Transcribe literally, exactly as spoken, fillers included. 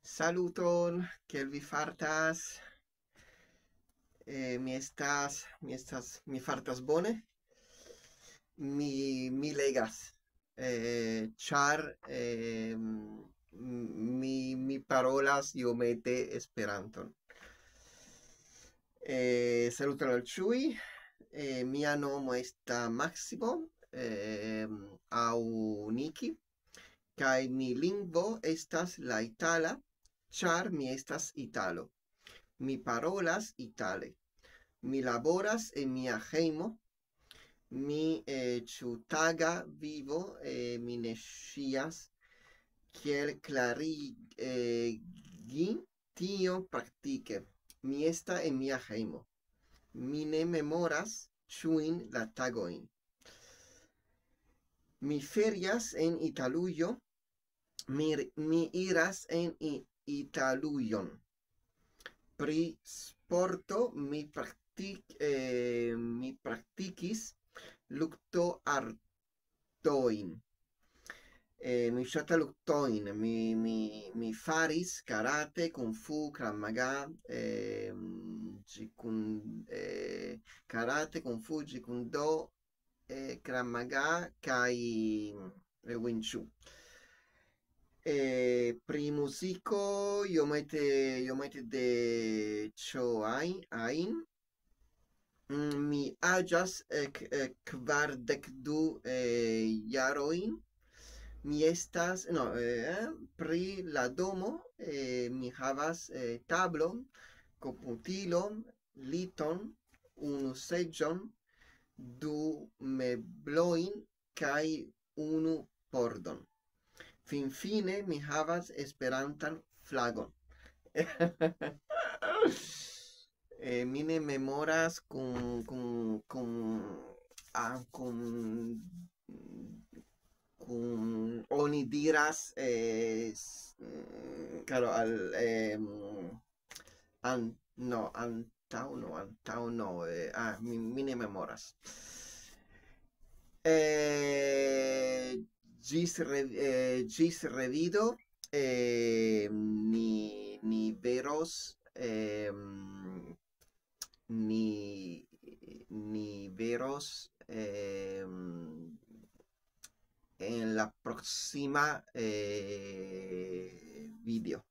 Saluton, kiel vi fartas? Eh, mi estas, mi estas, mi fartas bone. Mi, mi legas, eh, ĉar, eh, mi, mi parolas iomete Esperanton. Eh, saluton al ĉiuj. Eh, mia nomo estas Maximo, eh, aŭ Niki, kaj mi lingvo estas la itala, ĉar mi estas italo. Mi parolas itale. Mi laboras en mia hejmo. Mi, eh, ĉiutaga vivo, eh, mi ne scias kiel klarigi, eh, gi tio praktike. Mi esta en mia hejmo. Mi ne memoras ĉiujn la tagojn. Mi ferias en Italujo. Mi, mi iras en I-, Italujon. Pri sporto mi praktik-, eh, mi praktikis lukto artojn. Eh, mi ŝata luktojn. Mi, mi, mi faris karate, kung fu, Krav Maga, eh, ĝi kun, eh, karate, kung fu, ĝi kun do, eh, Krav Maga kaj, eh, Wing Chun. Eh, pri muziko, iomete, iomete de ĉio ajn, ajn. Mm, mi aĝas, eh, k-, eh, kvardek du, eh, jarojn. Mi estas, no, eh, pri la domo, eh, mi havas, eh, tablon, komputilon, liton, unu seĝon, du meblojn kaj unu pordon. Finfine mi havas Esperantan flagon. Eh, mi ne memoras kun, kun, kun, ah, kun, kun oni diras, eh, s-, mm, karo, al, em, an-, no, antaŭ, no, antaŭ, no, eh, ah, mi, mi ne memoras. Eh, ĝis re-, eh, ĝis revido, eh, ni, ni veros, em, ni, ni veros, em, en la proksima, eh, video.